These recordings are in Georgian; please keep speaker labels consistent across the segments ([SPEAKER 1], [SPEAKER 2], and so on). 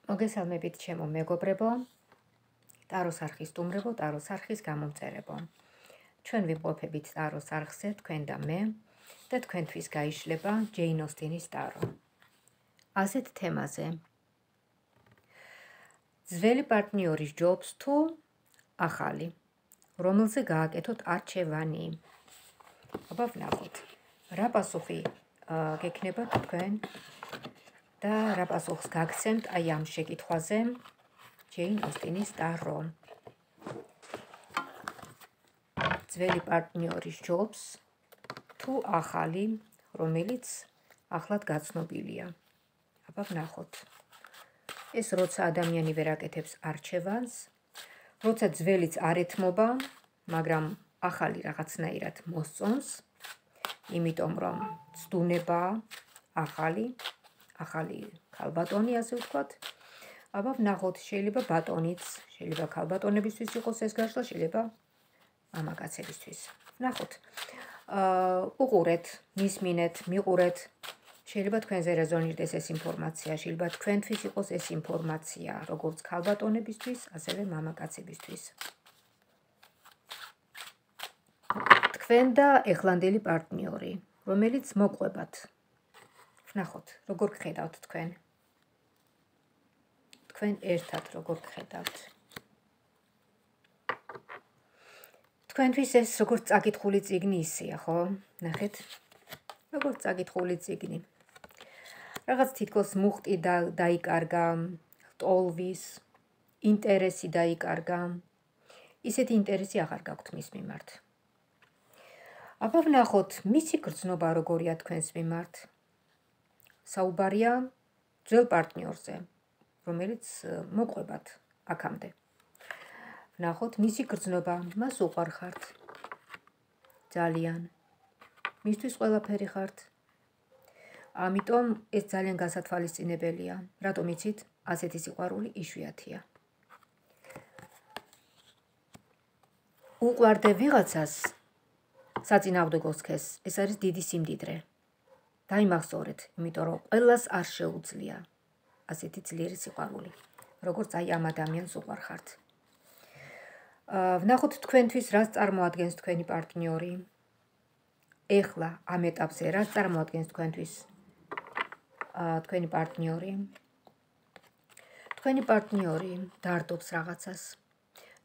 [SPEAKER 1] მოგესალმებით ჩემო მეგობრებო, ტაროს არხის სტუმრებო, ტაროს არხის გამომწერებო. ჩვენ ვიმყოფებით ტაროს არხზე, თქვენ და მე, და თქვენთვის გაიშლება ჯეინ ოსტინის ტარო. ასეთ თემაზე. ძველი პარტნიორის ჯობს თუ ახალი, რომელზე გააკეთოთ არჩევანი. აბა ვნახოთ, რა პასუხი გექნება თქვენ და რა პასუხს გაგცემთ აი ამ შეკითხვაზე ჯეინ ოსტინის ტარო. ძველი პარტნიორის ჯობს თუ ახალი, რომელიც ახლად გაცნობილია. აბა ვნახოთ. ეს როცა ადამიანი ვერ აკეთებს არჩევანს, როცა ძველიც არ ეთმობა, მაგრამ ახალი რაღაცნაირად მოსწონს, იმიტომ რომ ცდუნება ახალი ქალბატონი, ასე ვთქვათ. აბა ვნახოთ, შეიძლება ბატონიც, შეიძლება ქალბატონებისთვის იყოს ეს გაშლა, შეიძლება მამაკაცებისთვის. ვნახოთ. უყურეთ, მისმინეთ, მიყურეთ. შეიძლება თქვენზე რეზონირდეს ეს ინფორმაცია, შეიძლება თქვენთვის იყოს ეს ინფორმაცია, როგორც ქალბატონებისთვის, ასევე მამაკაცებისთვის. თქვენ და ეხლანდელი პარტნიორი, რომელიც მოყვებათ. ვნახოთ, როგორ გხედავთ თქვენ. თქვენ ერთად როგორ გხედავთ. თქვენთვის ეს როგორც წაკითხული წიგნი ისეა, ხო? ნახეთ, როგორც წაკითხული წიგნი. რაღაც თითქოს მუხტი დაიკარგა, ტოლვის, ინტერესი დაიკარგა. ისეთი ინტერესი აღარ გაქვთ მის მიმართ. აბა ვნახოთ, მისი გრძნობა როგორია თქვენს მიმართ. საუბარია ძველ პარტნიორზე, რომელიც მოყვებათ აქამდე. ვნახოთ, მისი გრძნობა, მას უყვარხართ. ძალიან. მისთვის ყველაფერი ხართ. ამიტომ ეს ძალიან გასათვალისწინებელია. რატომ იცით? ასეთი სიყვარული იშვიათია. უყვარდე ვიღაცას, საწინააღმდეგოს ქეს, ეს არის დიდი სიმდიდრე. დაიმახსოვრეთ, იმიტომ რომ ყველას არ შეუძლია ასეთი ძლიერი სიყვარული, როგორც აი ამ ადამიანს უყვარხართ. ვნახოთ თქვენთვის რას წარმოადგენს თქვენი პარტნიორი. ეხლა ამ ეტაპზე რას წარმოადგენს თქვენთვის თქვენი პარტნიორი. თქვენი პარტნიორი დარდობს რაღაცას.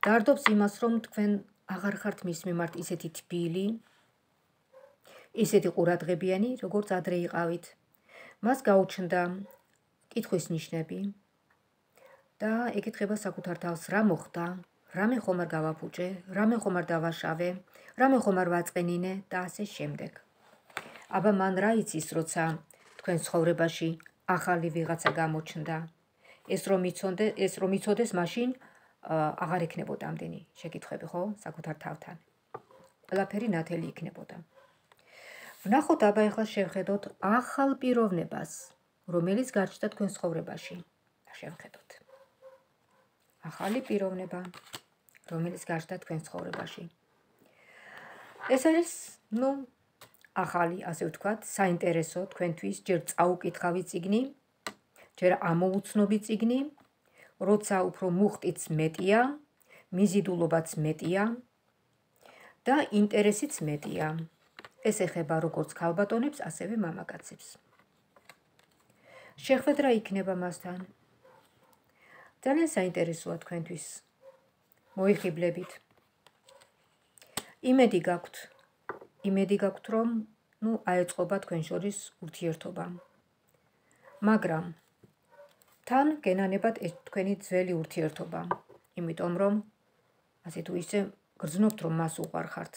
[SPEAKER 1] დარდობს იმას, რომ თქვენ აღარ ხართ მის მიმართ ისეთი თბილი, ისეთი ყურადღებიანი, როგორც ადრე იყავით. მას გაუჩნდა კითხვის ნიშნები და ეკითხება საკუთარ თავს, რა მოხდა, რამე ხომ არ გავაფუჭე, რამე ხომ არ დავაშავე, რამე ხომ არ ვაწყენინე და ასე შემდეგ. აბა მან რა იცის, როცა თქვენ ცხოვრებაში ახალი ვიღაცა გამოჩნდა. ეს რომ იცოდეს, მაშინ აღარ იქნებოდა ამდენი შეკითხვები, ხო? საკუთარ თავთან. ყველაფერი ნათელი იქნებოდა. ვნახოთ, აბა ეხლა შევხედოთ ახალ პიროვნებას, რომელიც გარჩდა თქვენ ცხოვრებაში. შევხედოთ. ახალი პიროვნება, რომელიც გარჩდა თქვენ ცხოვრებაში. ეს არის, ახალი, ასე ვთქვათ, საინტერესო თქვენთვის, ჯერ წაუკითხავი წიგნი, ჯერ ამოუცნობი წიგნი, როცა უფრო მუხტიც მეტია, მიზიდულობაც მეტია და ინტერესიც მეტია. ეს ეხება როგორც ქალბატონებს, ასევე მამაკაცებს. შეხვედრა იქნება მასთან. ძალიან საინტერესოა თქვენთვის. მოიხიბლებით. იმედი გაქვთ, რომ აეწყობა თქვენ შორის ურთიერთობა. მაგრამ თან გენანებათ ეს თქვენი ძველი ურთიერთობა. იმიტომ რომ ასე თუ ისე გრძნობთ, რომ მას უყვარხართ.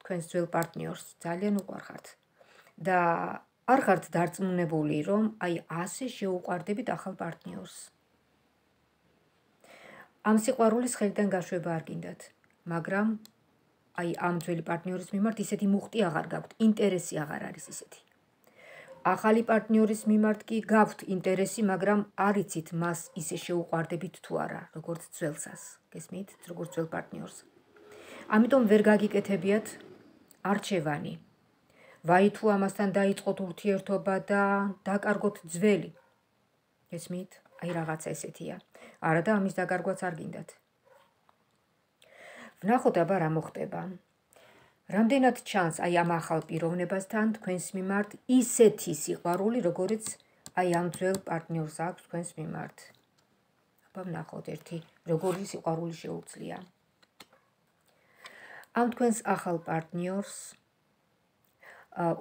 [SPEAKER 1] თქვენს ძველ პარტნიორს ძალიან უყვარხართ. და არ ხართ დარწმუნებული, რომ აი ასე შეუყვარდებით ახალ პარტნიორს. ამ სიყვარულის ხელიდან გაშვება არ გინდათ, მაგრამ აი ამ ძველი პარტნიორის მიმართ ისეთი მუხტი აღარ გაქვთ, ინტერესი აღარ არის ისეთი. ახალი პარტნიორის მიმართ კი გაქვთ ინტერესი, მაგრამ არ იცით მას ისე შეუყვარდებით თუ არა, როგორც ძველსას. გესმით, როგორც ძველ პარტნიორს. ამიტომ ვერ გაგიკეთებიათ არჩევანი. ვაი თუ ამასთან დაიწყოთ ურთიერთობა და დაკარგოთ ძველი. გესმით? აი რაღაცა ესეთია. არა და ამის დაგარგვაც არ გინდათ. ვნახოთ აბა რა მოხდება. რამდენად ჩანს აი ამ ახალ პიროვნებასთან თქვენს მიმართ ისეთი სიყვარული, როგორიც აი ამ ძველ პარტნიორს აქვს თქვენს მიმართ. აბა ვნახოთ ერთი როგორი სიყვარული შეუძლია. ამ თქვენს ახალ პარტნიორს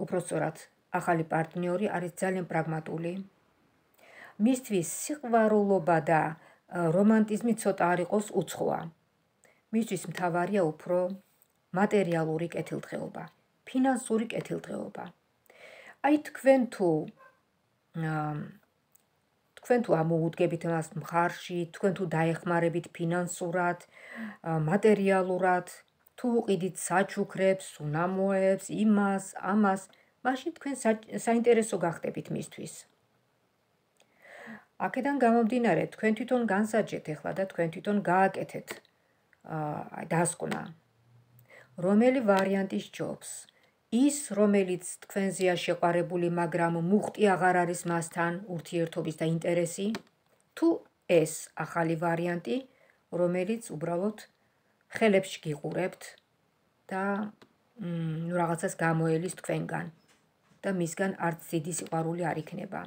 [SPEAKER 1] უпросторად ახალი პარტნიორი არის ძალიან პრაგმატული. მისთვის სიყვარულობა და რომანტიზმი ცოტა არ იყოს უცხოა. მისთვის მთავარია უფრო მატერიალური კეთილდღეობა, ფინანსური კეთილდღეობა. აი თქვენ თუ ამოუდგებით მას მხარში, თქვენ თუ დაეხმარებით ფინანსურად, მატერიალურად, თუ უყიდით საჩუქრებს, უნამოებს, იმას, ამას, მაშინ თქვენ საინტერესო გახდებით მისთვის. აქედან გამომდინარე, თქვენ თვითონ განსაჯეთ ახლა და თქვენ თვითონ გააკეთეთ დასკვნა. რომელი ვარიანტი სჯობს? ის, რომელიც თქვენზეა შეყვარებული, მაგრამ მუხტი აღარ არის მასთან ურთიერთობის და ინტერესი, თუ ეს ახალი ვარიანტი, რომელიც უბრალოდ ხელებში გიყურებთ და რაღაცას გამოელის თქვენგან და მისგან არც დიდი სიყვარული არ იქნება.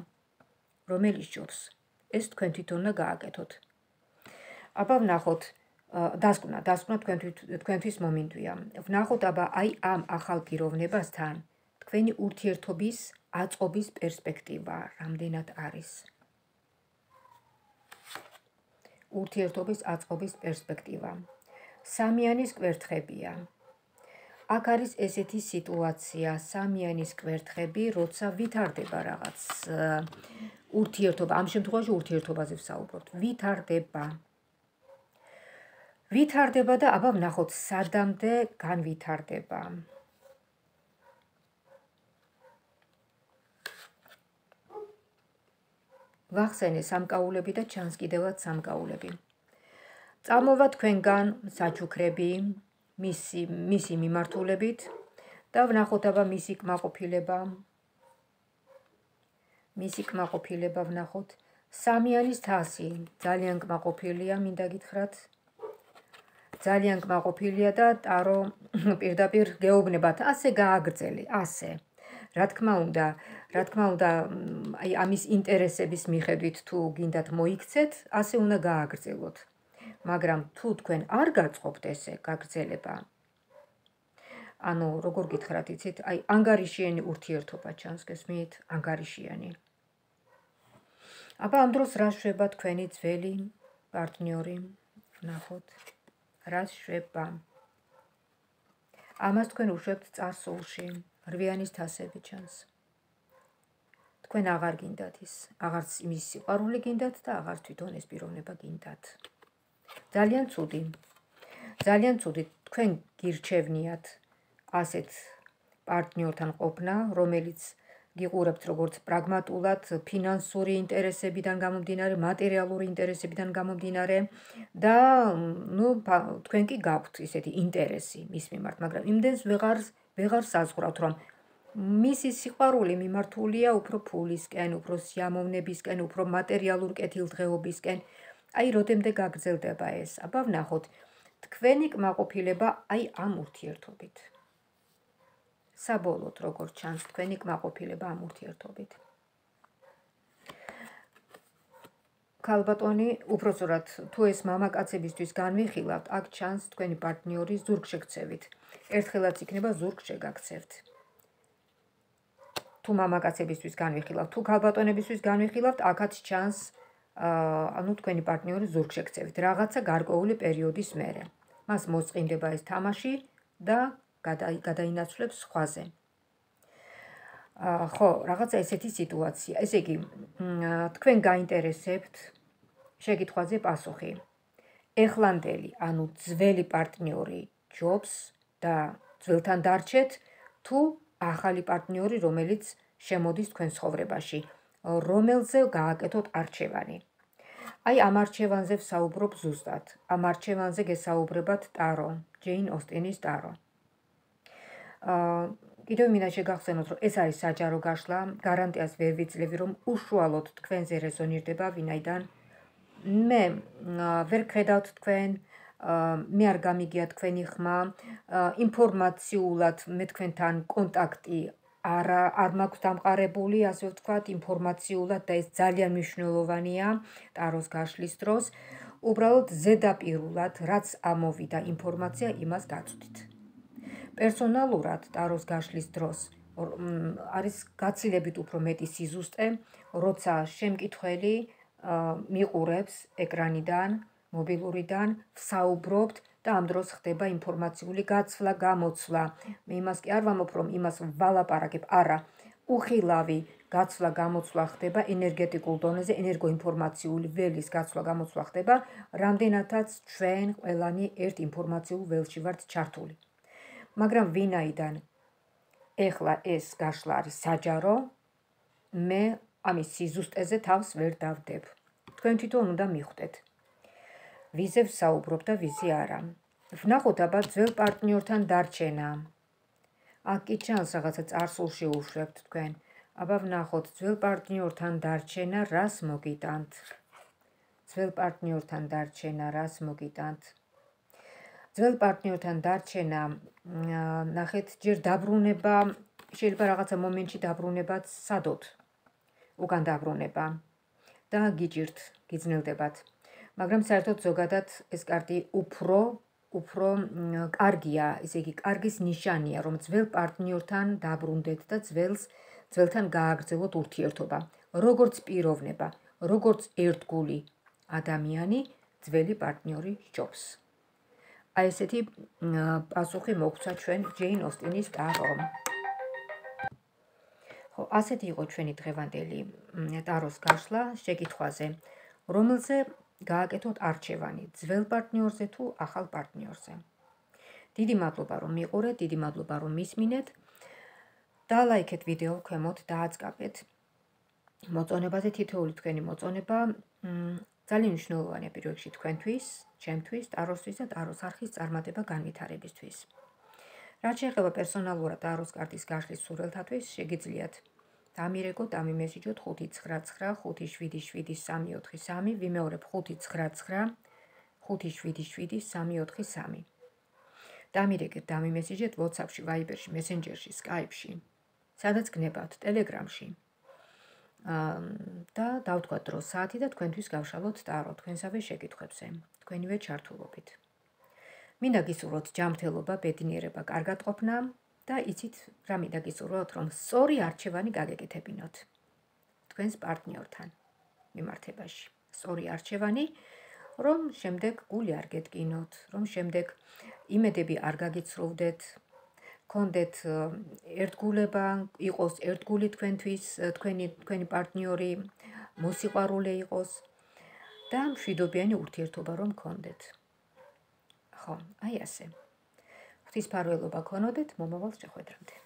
[SPEAKER 1] რომელი სჯობს? ეს თქვენ თვითონ უნდა გააკეთოთ. აბა ვნახოთ დასკვნა თქვენთვის მომინდვია. ვნახოთ აბა აი ამ ახალ პიროვნებასთან თქვენი ურთიერთობის აწყობის პერსპექტივა რამდენად არის. ურთიერთობის აწყობის პერსპექტივა. სამიანის კვერთხებია. აქ არის ესეთი სიტუაცია, სამიანის კვერთხები, როცა ვითარდება რაღაც ურთიერთობა, ამ შემთხვევაში ურთიერთობაზე ვსაუბრობთ, ვითარდება და აბა ვნახოთ სადამდე განვითარდება. ვახსენე სამკაულები და ჩანს კიდევაც სამკაულები. წამოვა თქვენგან საჩუქრები მისი მიმართულებით და ვნახოთ აბა მისი კმაყოფილება ვნახოთ. სამიანის თასი ძალიან კმაყოფილია, მინდა გითხრათ. ძალიან კმაყოფილია და ტარო პირდაპირ გეუბნებათ, ასე გააგრძელე, ასე. რა თქმა უნდა, აი ამის ინტერესების მიხედვით თუ გინდათ მოიქცეთ, ასე უნდა გააგრძელოთ. მაგრამ თუ თქვენ არ გაწყობთ ესე გაგრძელება, ანუ როგორ გითხრათ, იცით, აი ანგარიშიანი ურთიერთობა ჩანს, გესმით, ანგარიშიანი. აბა ამ დროს რა შვება თქვენი ძველი პარტნიორი? ვნახოთ. რა შვება? ამას თქვენ უშვებთ წარსულში, რვიანის თასები ჩანს. თქვენ აღარ გინდათ ის, აღარც იმის სიყვარული გინდათ და აღარც თვითონ ეს პიროვნება გინდათ. ძალიან ცუდი, თქვენ გირჩევნიათ ასეთ პარტნიორთან ყოფნა, რომელიც გიყურებთ როგორც პრაგმატულად, ფინანსური ინტერესებიდან გამომდინარე, მატერიალური ინტერესებიდან გამომდინარე და თქვენ კი გაქვთ ისეთი ინტერესი მის მიმართ, მაგრამ იმდენს ვეღარ საზღვრავთ, რომ მისი სიყვარული მიმართულია უფრო ფულისკენ, უფრო სიამოვნებისკენ, უფრო მატერიალურ კეთილდღეობისკენ. აი როდემდე გაგრძელდება ეს? აბა ვნახოთ თქვენი კმაყოფილება აი ამ ურთიერთობით. საბოლოოდ როგორ ჩანს თქვენი კმაყოფილება ამ ურთიერთობით? ქალბატონი, უпросторად თუ ეს მამაკაცებისთვის განვიხილავთ, აქ ჩანს თქვენი პარტნიორის ზურგშექცევით. ერთხელაც იქნება ზურგ შეგაქცევთ. თუ მამაკაცებისთვის განვიხილავთ, თუ ქალბატონებისთვის განვიხილავთ, აქაც ჩანს თქვენი პარტნიორის ზურგშექცევით, რაღაცა გარკვეული პერიოდის მერე. მას მოსწყინდება ეს თამაში და გადაინაცვლებს სხვაზე. ხო, რაღაცა ესეთი სიტუაცია. ესე იგი, თქვენ გაინტერესებთ შეკითხვაზე პასუხი. ეხლანდელი, ანუ ძველი პარტნიორი ჯობს და ძველთან დარჩეთ, თუ ახალი პარტნიორი, რომელიც შემოდის თქვენ ცხოვრებაში, რომელზე გააკეთოთ არჩევანი. აი ამ არჩევანზე ვსაუბრობ ზუსტად. ამ არჩევანზე გესაუბრებათ ტარო, ჯეინ ოსტინის ტარო. კიდევ მინდა შეგახსენოთ, რომ ეს არის საჯარო გაშლა, გარანტიას ვერ ვიძლევი, რომ უშუალოდ თქვენზე რეზონირდება, ვინაიდან მე ვერ გხედავთ თქვენ, მე არ გამიგია თქვენი ხმა, ინფორმაციულად მე თქვენთან კონტაქტი არ მაქვს დამყარებული, ასე ვთქვათ, ინფორმაციულად და ეს ძალიან მნიშვნელოვანია ტაროს გაშლის დროს. უბრალოდ ზედაპირულად, რაც ამოვიდა ინფორმაცია, იმას გაწვდით. პერსონალურად ტაროს გაშლის დროს არის გაცილებით უფრო მეტი სიზუსტე, როცა შემკითხველი მიყურებს ეკრანიდან, მობილურიდან, ვსაუბრობთ და ამ დროს ხდება ინფორმაციული გაცვლა, გამოცვლა. მე იმას კი არ ვამბობ, რომ იმას ვალაპარაკებ, არა. უხილავი გაცვლა, გამოცვლა ხდება ენერგეტიკულ დონეზე, ენერგოინფორმაციული ველის გაცვლა, გამოცვლა ხდება, რამდენადაც ჩვენ ყველანი ერთ ინფორმაციულ ველში ვართ ჩართული. მაგრამ ვინაიდან ეხლა ეს გაშლა არის საჯარო, მე ამის სიზუსტეზე თავს ვერ დავდებ. თქვენ თვითონ უნდა მიხვდეთ. ვიზე ვსაუბრობ და ვიზე არა. ვნახოთ აბა ძველ პარტნიორთან დარჩენა. აქ კი ჩანს რაღაცა წარსულში უშვებთ თქვენ. აბა ვნახოთ ძველ პარტნიორთან დარჩენა, რას მოგიტანთ. ძველ პარტნიორთან დარჩენა, რას მოგიტანთ. ძველ პარტნიორთან დარჩენა, ნახეთ, ჯერ დაბრუნება, შეიძლება რაღაცა მომენტში დაბრუნებაც სადოთ. უკან დაბრუნება და გიჭირთ, გიძნელდებათ. მაგრამ საერთოდ ზოგადად ეს კარტი უფრო კარგია, ესე იგი კარგის ნიშანია, რომ ძველ პარტნიორთან დაბრუნდეთ და ძველთან გააგრძელოთ ურთიერთობა. როგორც პიროვნება, როგორც ერთგული ადამიანი, ძველი პარტნიორი სჯობს. აი ესეთი პასუხი მოგცა ჩვენ ჯეინ ოსტინის ტარომ. ხო, ასეთი იყო ჩვენი დღევანდელი ტაროს გაშლა შეკითხვაზე, რომელზე გააკეთოთ არჩევანი, ძველ პარტნიორზე თუ ახალ პარტნიორზე. დიდი მადლობა რომ მიყურეთ, დიდი მადლობა რომ მისმინეთ. დალაიქეთ ვიდეო ქვემოთ, დააწყაბეთ. მოწონებაზე თითოეული თქვენი მოწონება ძალიან მნიშვნელოვანია პირველ რიგში თქვენთვის, ჩემთვის, ტაროსთვის და ტაროს არხის წარმატება განვითარებისთვის. რაც შეეხება პერსონალურად ტაროს კარტის გაშლის სურვილთათვის, შეგიძლიათ დამირეკოთ, დამიმესიჯოთ 599577343, ვიმეორებ 599577343. დამირეკეთ, დამიმესიჯეთ WhatsApp-ში, Viber-ში, Messenger-ში, Skype-ში, სადაც გნებავთ, Telegram-ში. და დავთქვათ დრო საათი და თქვენთვის გავშალოთ ტარო თქვენსავე შეკითხვებზე, თქვენივე ჩართულობით. მინდა გისურვოთ ჯანმრთელობა, ბედნიერება, კარგატყოფნა და იცით რა მინდა გისურვოთ, რომ სწორი არჩევანი გაგეკეთებინოთ თქვენს პარტნიორთან მიმართებაში. სწორი არჩევანი, რომ შემდეგ გული არ გეტკინოთ, რომ შემდეგ იმედები არ გაგიცრუვდეთ, გქონდეთ ერთგულება, იყოს ერთგული თქვენთვის, თქვენი პარტნიორი მოსიყვარულე იყოს და მშვიდობიანი ურთიერთობა რომ გქონდეთ. ხო, აი ასე. ღვთისმფარველობა გქონოდეთ მომავალ შეხვედრამდე.